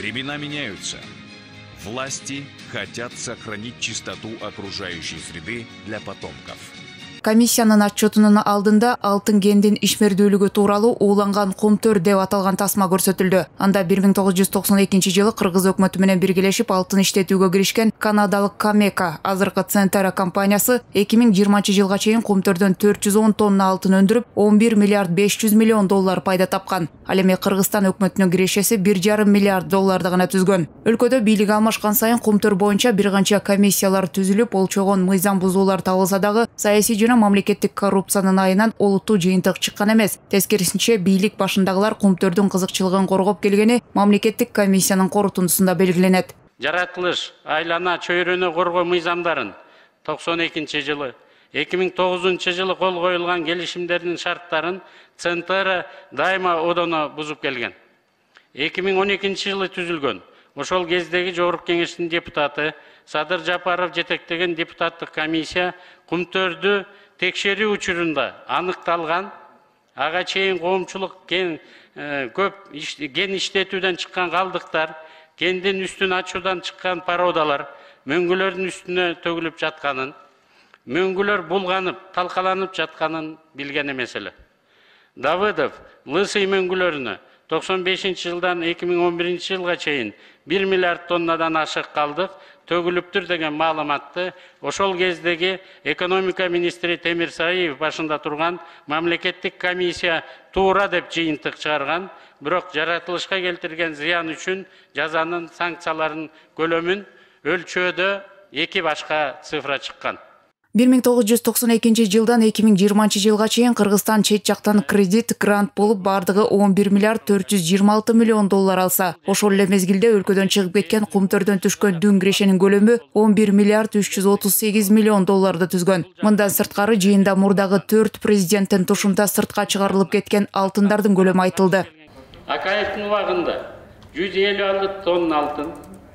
Времена меняются. Власти хотят сохранить чистоту окружающей среды для потомков. Комиссиянын отчетунун алдында алтын кендин ишмердүүлүгү тууралуу ууланган кумтөр деп аталган тасма көрсөтүлдү. Анда 1992 Кыргыз өкмөтү менен биргелешип алтын иштетүүгө киришкен канадалык Камека азыркы Центара компаниясы 2020 жылга чейин кумтөрдөн 410 тонна алтын өндүрүп, 11 миллиард 500 миллион доллар пайда тапкан. Ал эми Кыргызстан өкмөтүнүн кирешеси 1,5 миллиард долларды гана түзгөн. Өлкөдө бийлик алмашкан сайын кумтөр боюнча бир канча комиссиялар түзүлүп, болчогон мыйзам бузуулар табылса дагы саясий мамлекеттик коррупциянын айынан олуттуу жыйынтык чыккан эмес. Тескерисинче бийлик башындагылар кумтөрдүн кызыкчылыгын коргоп келгени мамлекеттик комиссиянын корутундусунда белгиленет. Жаратылыш, айлана, чөйрөнү коргоо мыйзамдарын 92-жылы, 2009 кол коюлган келишимдердин шарттарын Центара дайыма одоно бузуп келген. 2012 түзүлгөн. Ошол кездеги Жогорку Кеңештин депутаты Садыр Жапаров жетектеген депутаттык комиссия кумтөрдү текшерүү учурунда аныкталган ага чейин коомчулук кен иштетүүдөн чыккан калдыктар, кендин үстүн ачуудан чыккан породалар мөңгүлөрдүн үстүнө төгүлүп жатканын, мөңгүлөр булганып, талкаланып жатканын билген эмес эле. Давыдов Лысый мөңгүлөрүнө 95-жылдан 2011 жылга чейин 1 миллиард тоннадан ашык калдык төгүлүптүр деген маалыматты ошол кездеги экономика министри Темир Саиев башында турган мамлекеттик комиссия туура деп жыйынтык чыгарган, бирок жаратылышка келтирген зыян үчүн жазанын санкцияларын көлөмүн өлчөөдө эки башка цифра чыккан. 1992 жылдан 2020 жылга чейин Кыргызстан чет жактан кредит, грант болуп бардыгы 11 миллиард 426 миллион доллар алса, ошол эле мезгилде өлкөдөн чыгып кеткен кумтөрдөн түшкөн дүң кирешенин көлөмү 11 миллиард 338 миллион долларды түзгөн. Мындан сырткары жыйында мурдагы 4 президенттин тушунда сыртка чыгарылып кеткен алтындардын көлөмү айтылды. Акаевдин убагында 156 тонна алтын,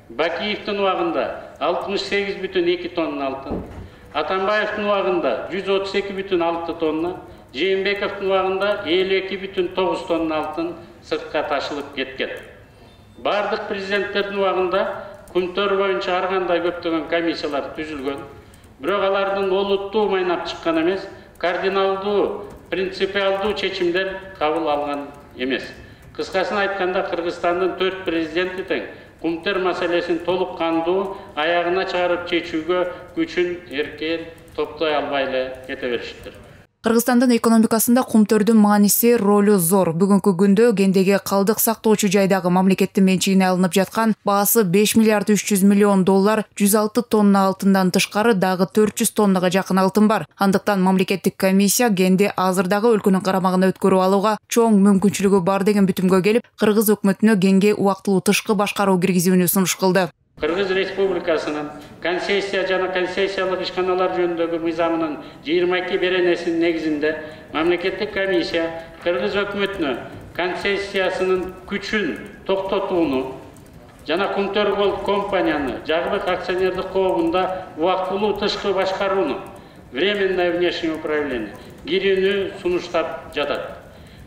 Бакиевдин убагында 68,2 тонна алтын, Атамбаевдин убагында 132,6 тонна, Жээнбековдун убагында 52,9 тонна алтын сыртка ташылып кеткен. Бардык президенттердин убагында кумтөр боюнча ар кандай көптөгөн комиссиялар түзүлгөн. Бирок алардын олуттуу майнап чыккан эмес, кардиналдуу, принципиалдуу чечимдер кабыл алган эмес. Кыскасын айтканда, Кыргызстандын 4 президенти тең кумтөр маселесин толук кандуу аягына чыгарып чечүүгө күчүн эркен топтой албай эле кете беришиптир. Кыргызстандын экономикасында кумтөрдүн мааниси, ролу зор. Бүгүнкү күндө кендеги калдык сактоочу жайдагы мамлекеттин менчигине алынып жаткан баасы 5 миллиард 300 миллион доллар, 106 тонна алтындан тышкары дагы 400 тоннага жакын алтын бар. Андыктан мамлекеттик комиссия кенди азырдагы өлкөнүн карамагына өткөрүп алууга чоң мүмкүнчүлүгү бар деген бүтүмгө келип, Кыргыз өкмөтүнө кенге убактылуу тышкы башкаруу киргизүүнү сунуш кылды. Кыргыз Республикасынын концессия жана концессиялык ишканалар жөнүндөгү мыйзамынын 22 беренесинин негизинде мамлекеттик комиссия Кыргыз өкмөтүнө концессиясынын күчүн токтотууну жана Кумтөр Голд компанияны жагылык акционердик коомунда убактылуу тышкы башкарууну, временное внешнее управление кирүүнү сунуштап жатат.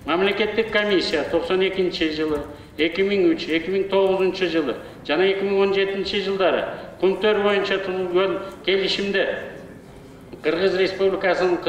Мамлекеттик комиссия 92 жылы, 2003, 2009 жылы жана 2017 жылдары кумтөр боюнча түзүлгөн келишимде Кыргыз Республикасынын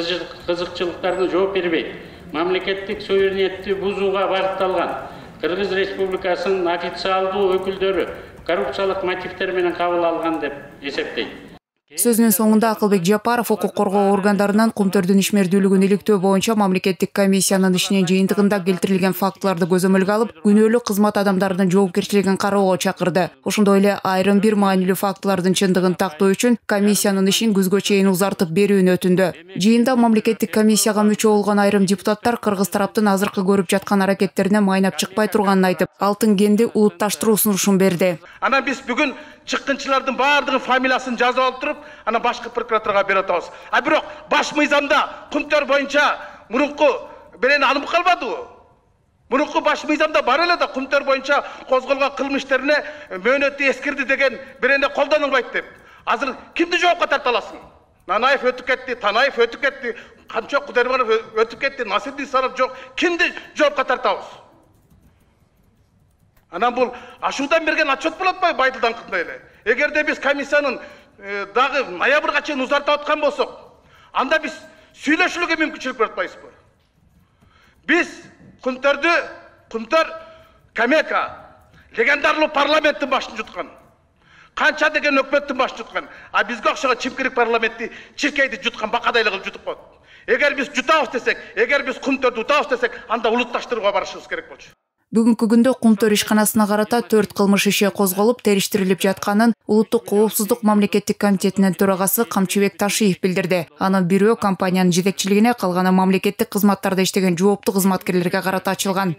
кызыкчылыктарына жооп бербейт, мамлекеттик суверенитетти бузууга багытталган Кыргыз Республикасынын официалдуу өкүлдөрү коррупциялык мотивдер менен кабыл алган деп эсептейт. Сөзүнүн соңунда Акылбек Жапаров укук коргоо органдарынан кумтөрдүн ишмердүүлүгүн иликтөө боюнча мамлекеттик комиссиянын ишинин жыйынтыгында келтирилген фактыларды көзөмөлгө алып, күнөөлүү кызмат адамдарынын жоопкерчилигин кароого чакырды. Ошондой эле айрым бир маанилүү фактылардын чындыгын тактоо үчүн комиссиянын ишин күзгө чейин узартып берүүнү өтүндү. Жыйында мамлекеттик комиссияга мүчө болгон айрым депутаттар Кыргыз тараптын азыркы көрүп жаткан аракеттерине майнап чыкпай турганын айтып, алтын кенди улутташтыруу сунушун берди. Анан биз бүгүн чыккынчылардын баардыгын фамилиясын жазып алып туруп, анан башкы прокуратурага берип атабыз. А бирок баш мыйзамда кумтөр боюнча мурунку берени алынып калбадыбы? Мурунку баш мыйзамда бар эле да кумтөр боюнча козголгон кылмыш иштерине мөөнөтү эскирди деген берене колдонулбайт деп. Азыр кимди жоопко тарта аласың? Нанаев өтүп кетти, Танаев өтүп кетти, Канчок Кудайбергенов өтүп кетти, Насирдин Саров жок. Кимди жоопко тартабыз? Анан бул ашуудан берген отчет болот атпайбы Байдылданкындай эле. Эгерде биз комиссиянын дагы ноябрга чейин узартып аткан болсок, анда биз сүйлөшүүлүгө мүмкүнчүлүк берип атпайбызбы? Биз Кумтөр Камека легендарлуу парламенттин башын жуткан. Канча деген өкмөттүн башын жуткан. А бизге окшогон чимкирик парламентти, чиркейди жуткан бакадай эле кылып жутуп коет. Эгер биз жутабыз десек, эгер биз Кумтөрдү утабыз десек, анда улутташтырууга барышыбыз керек болчу. Бүгүнкү күндө Кумтөр ишканасына карата 4 кылмыш иши козголуп, териштирилип жатканын Улуттук коопсуздук мамлекеттик комитетинин төрагасы Камчыбек Ташиев билдирди. Анын бирөө компаниянын жетекчилигине, калганы мамлекеттик кызматтарда иштеген жооптуу кызматкерлерге карата ачылган.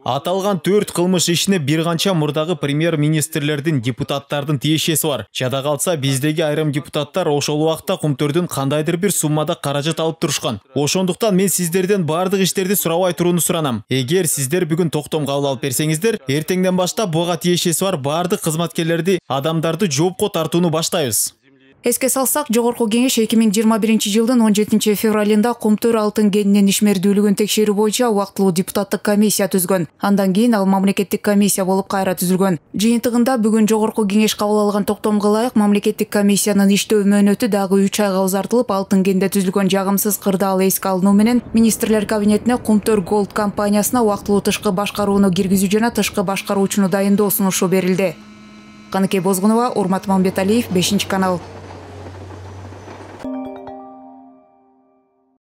Аталган 4 кылмыш ишине бир канча мурдагы премьер-министрлердин, депутаттардын тиешеси бар. Жада калса, биздеги айрым депутаттар ошол убакта Кумтөрдүн кандайдыр бир суммада каражат алып турушкан. Ошондуктан мен сиздерден бардык иштерди сурабай турууну суранам. Эгер сиздер бүгүн токтом кабыл алып берсеңиздер, эртеңден баштап буга тиешеси бар бардык кызматкерлерди, адамдарды жоопко тартууну баштайбыз. Эске салсак, Жогорку кеңеш 2021 жылдын 17 февралында Кумтөр алтын кенинин ишмердүүлүгүн текшерүү боюнча убактылуу депутаттык комиссия түзгөн. Андан кийин ал мамлекеттик комиссия болуп кайра түзүлгөн. Жыйынтыгында бүгүн Жогорку кеңеш кабыл алган токтомго ылайык мамлекеттик комиссиянын иштөө мөөнөтү дагы 3 айга узартылып, алтын кенде түзүлгөн жагымсыз кырдаал эске алынуу менен министрлер кабинетине Кумтөр Голд компаниясына убактылуу тышкы башкарууну киргизүү жана тышкы башкаруучуну дайындоо сунушу берилди. Каныкей Бозгунова, Урмат Мамбеталиев, 5 канал.